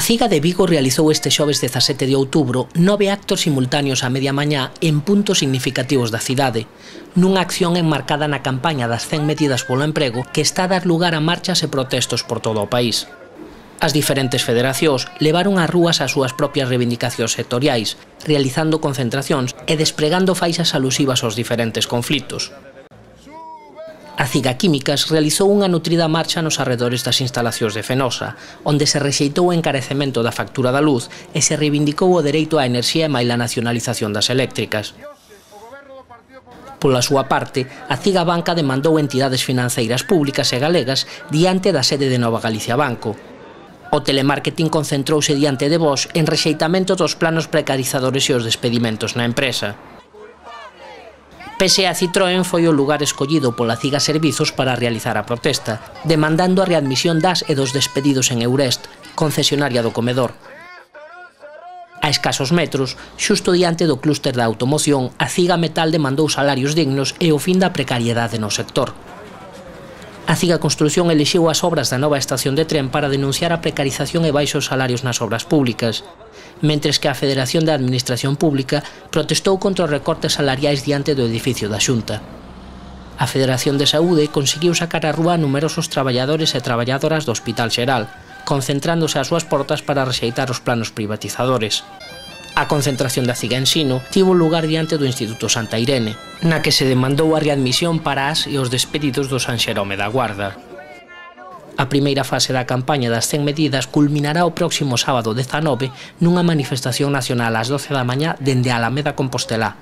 CIGA de Vigo realizou este xoves 17 de outubro 9 actos simultáneos a media mañá en puntos significativos da cidade, nunha acción enmarcada na campaña das 100 medidas polo emprego que está a dar lugar a marchas e protestos por todo o país. As diferentes federacións levaron ás rúas as súas propias reivindicacións sectoriais, realizando concentracións e despregando faixas alusivas aos diferentes conflitos. A CIGA Químicas realizou unha nutrida marcha nos arredores das instalacións de Fenosa, onde se rexeitou o encarecemento da factura da luz e se reivindicou o dereito á enerxía e maila nacionalización das eléctricas. Pola súa parte, a CIGA Banca demandou entidades financeiras públicas e galegas diante da sede de Nova Galicia Banco. O telemarketing concentrouse diante de Bosch en rexeitamento dos planos precarizadores e os despedimentos na empresa. PSA Citroën foi o lugar escollido pola CIGA Servizos para realizar a protesta, demandando a readmisión das e dos despedidos en Eurest, concesionaria do comedor. A escasos metros, xusto diante do clúster da automoción, a CIGA Metal demandou salarios dignos e o fin da precariedade no sector. A CIGA Construción elixiu as obras da nova estación de tren para denunciar a precarización e baixos salarios nas obras públicas, mentres que a Federación de Administración Pública protestou contra os recortes salariais diante do edificio da Xunta. A Federación de Saúde conseguiu sacar á rúa a numerosos traballadores e traballadoras do Hospital Xeral, concentrándose ás súas portas para rexeitar os planos privatizadores. A concentración da CIGA Ensino tivo lugar diante do Instituto Santa Irene, na que se demandou a readmisión para as e os despedidos do San Xerome da Guarda. A primeira fase da campaña das 100 medidas culminará o próximo sábado 19 nunha manifestación nacional ás 12 da mañá dende a Alameda Compostelá.